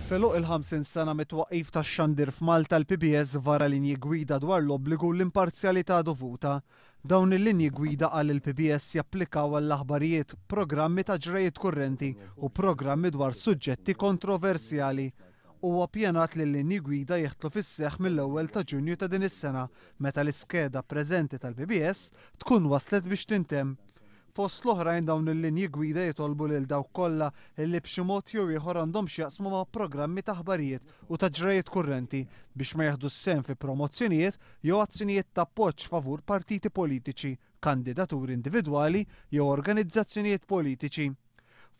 F'għeluq il-50 sena mit-twaqqif tax-xandir f'Malta l-PBS vara linji gwida dwar l-obbligu u l-imparzjalità dovuta. Dawn il-linji gwida qal il-PBS japplikaw għall-aħbarijiet, programmi ta' ġrajiet kurrenti u programmi dwar suġġetti kontroversjali. Huwa ppjanat li l-linji gwida jidħlu fis-seħħ mill-ewwel ta' Ġunju ta' din is-sena meta l-iskeda preżenti tal-PBS tkun waslet biex tintemm. Fost l-oħrajn dawn il-linji gwida jitolbu lil dawk kollha li b'xi mod jew ieħor għandhom x'jaqsmu ma' programmi ta' aħbarijiet u ta' ġrajiet kurrenti biex ma jieħdux sehem fi promozzjonijiet jew azzjonijiet ta' appoġġ favur partiti politiċi, kandidaturi individwali jew organizzazzjonijiet politiċi.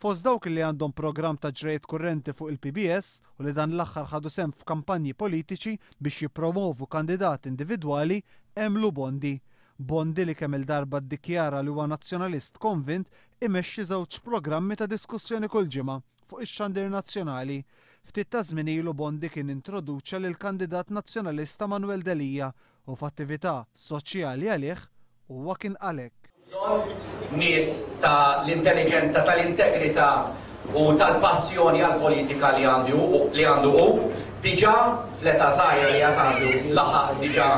Fost dawk li għandhom programm ta' ġrajiet kurrenti fuq il-PBS u li dan l-aħħar ħadu sehem f'kampanji politiċi biex jippromovu kandidati individwali hemm Lou Bondi. Bondi li kemm-il darba ddikjara li huwa Nazzjonalist konvint imexxi żewġ programmi ta' diskussjoni kull ġimgħa fuq ix-xandir nazzjonali. Ftit taż-żmien ilu Bondi kien introduċa lill-kandidat Nazzjonalista Manuel Delia u f'attività soċjali għalih huwa kien qal hekk. Bżonn nies ta' l-intelliġenza, tal-integrità u tal-passjoni għall-politika li għandu li għandu hu. Diġà fl-età żgħira li għad għandu laħaq diġà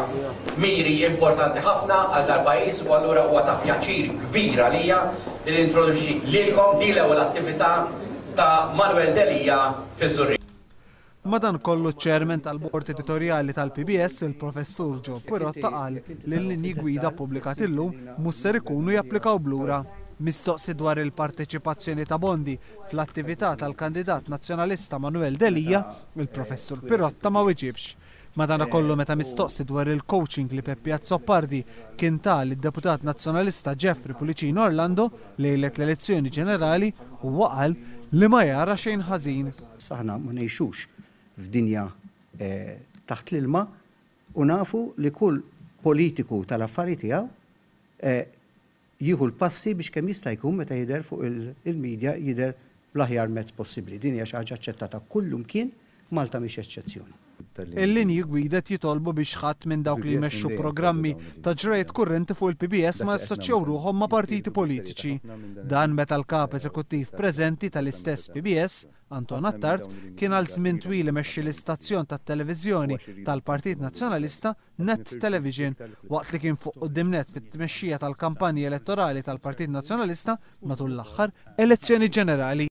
miri importanti ħafna għal dal-pajjiż u allura huwa ta' pjaċir kbir għalija li nintroduċi lilkom din l-ewwel attività ta' Manuel Delia fiż-Żurrieq. Madankollu ċ-Chairman tal-Bord Editorjali tal-PBS, il-Professur Joe Pirotta qal li l-linji gwida ppubblikati llum mhux ser ikunu japplikaw b'lura. Mistoqsi dwar il-parteċipazzjoni ta' Bondi fl-attività tal-kandidat Nazzjonalista Manuel Delia, il-Professur Pirotta ma wiġibx. Madanakollu meta mistoqsi dwar il-coaching li Peppi Azzopardi kien ta lid-Deputat Nazzjonalista Jeffrey Pullicino Orlando lejlet l-elezzjoni ġenerali, huwa qal li ma jara xejn ħażin. Aħna ma ngħixux f'dinja taħt l-ilma u nafu li kull politiku tal-affari tiegħu jieħu l-passi biex kemm jista' jkun meta jidher fuq il-media jidher bl-aħjar mezz possibbli. Din hija xi ħaġa aċċettata kullumkien, Malta mhix eċċezzjoni. Il-linji gwida qed jitolbu biex ħadd minn dawk li jmexxu programmi ta' ġrajiet kurrenti fuq il-PBS ma jassoċjaw ruħhom ma' partiti politiċi. Dan meta l-Kap Eżekuttiv preżenti tal-istess PBS, Anton Attard, kien għal żmien twil imexxi l-istazzjon tat-televiżjoni tal-Partit Nazzjonalista, Net Television, waqt li kien fuq quddiem nett fit-tmexxija tal-kampanji elettorali tal-Partit Nazzjonalista matul l-aħħar elezzjoni ġenerali.